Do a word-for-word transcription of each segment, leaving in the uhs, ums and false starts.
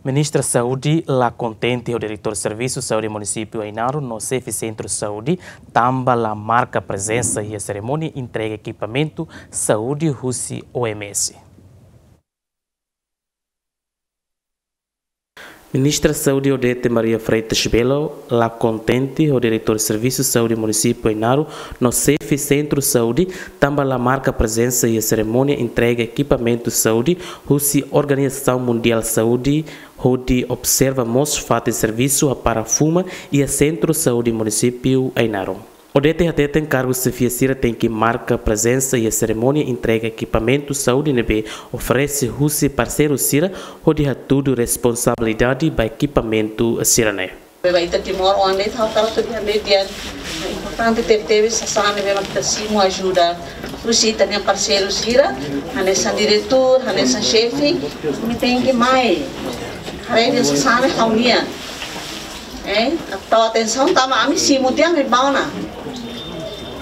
Ministra Saúde la kontente ho Diretór Servisu Saúde Munisípiu Ainaro no xefe Sentru Saúde, tanba la marka prezensa iha serimónia entrega ekipamentu saúde husi O M S. Ministra Saúde Odete Maria Freitas Belo la kontente ho Diretór Servisu Saúde Munisípiu Ainaro no xefe Sentru Saúde, tanba la marka prezensa iha serimónia entrega ekipamentu saúde husi Organizasaun Mundiál Saúde, hodi observa mós fatin servisu hapara fuma iha Sentru Saúde Munisípiu Ainaro. Odete hateten kargu xefia sira tenke marka prezensa iha serimónia entrega ekipamentu saúde ne'ebé oferese husi parseiru sira, hodi hatudu responsabilidade ba ekipamentu sira-ne'e. Beba ita Timor, oan de'it ha'u hakarak atu dehan de'it, importante tebetebes sasán ne'ebé mak ita simu ajuda husi ita-nia parseiru sira, hanesan diretór, hanesan xefe, imi tenke mai haree dehan sasán ne'e ha'u-nian. Eh, tau atensaun tanba ami simu tiha ami bá ona.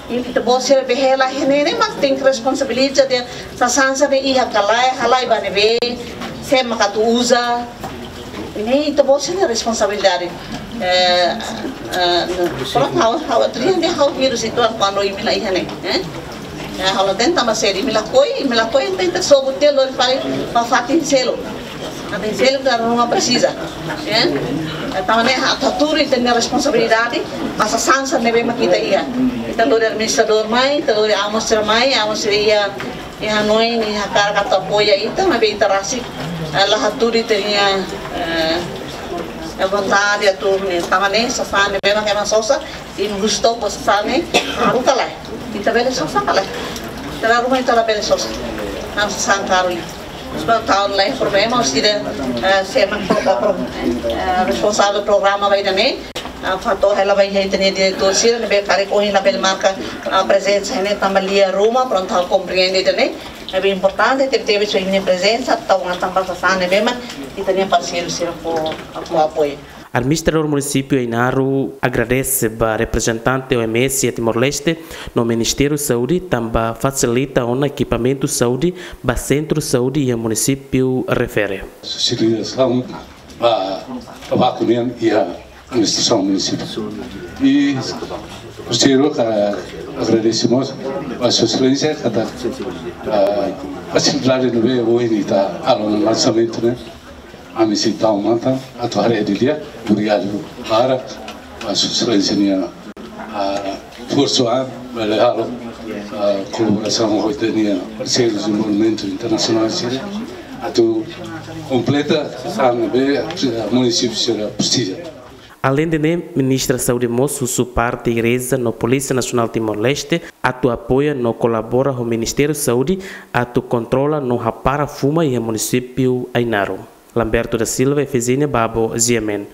Imi ita-boot sira be hela iha ne'e, ne'e mak tenke responsabiliza dehan sasán sira-ne'e iha ka lae, halai ba ne'ebé, sé mak atu uza. Ne'e ita-boot sira-nia responsabilidade. Eh, eh, prontu, ha'u, ha'u atu dehan dehan ha'u vírus itu kuandu imi la iha ne'e, eh? Ya, ha'u la hatene tanba saida, imi lakohi, imi lakohi, entaun ita sobu tiha lori fali ba fatin seluk. Fatin seluk dala ruma presiza, ya. Entaun ne'e ha'u atu hatudu ita-nia responsabilidade, ba sasán sira ne'ebé mak ita iha. Ita lori administradór mai, ita lori amu sira mai, amu sira iha, iha hanoin, iha hakarak atu apoia ita, maibé ita rasik, eh, la hatudu ita-nia, eh, eh, vontade atu, ne'e, tanba ne'e sasán ne'ebé mak ema sosa, imi husu to'ok ba sasán ne'e karu ka lae. Ita bele sosa ka lae. Dala ruma ita labele sosa. Tanba sasán karu ne'e. Sebab tahun lain problema, husi ida, eh, sé mak pro-, pro-, eh, responsavel programa ba ida-ne'e, eh, fó hela ba iha ita-nia diretór sira ne'ebé karik ohin labele marka, eh, prezensa iha ne'e tanba lia ruma, prontu ha'u komprende ida-ne'e. Ne'ebé importante tebetebes sira-nia prezensa, tau ona tanba sasán ne'ebé mak ita-nia parseiru sira fó, fó apoiu. Administradór Munisípiu Ainaro agradese ba reprezentante O M S iha Timor-Leste no Ministériu Saúde tanba fasilita ona ekipamentu saúde ba sentru saúde iha munisípiu refere. Sosializasaun ba tabaku nian iha administrasaun munisípiu. I terseiro, ha'u agradese mós ba Sua Exelénsia katak, ah, fasilidade ne'ebé ohin ita halo ona lansamentu ne'e. Ami sei tau matan atu haree didi'ak, obrigadu barak ba Sua Exelénsia nia, ah, esforsu an, bele halo, ah, kolaborasaun ho ita-nia parseirus dezenvolvimentu internasionál sira, atu kompleta sasán ne'ebé, ah, munisípiu sira presiza. Aleinde ne'e, Ministra Saúde mós husu parte Igreja no Polísia Nasionál Timor-Leste atu apoia no kolabora ho Ministériu Saúde atu kontrola no hapara fuma iha munisípiu Ainaro. Lamberto da Silva, Efezínia Babo, G M N.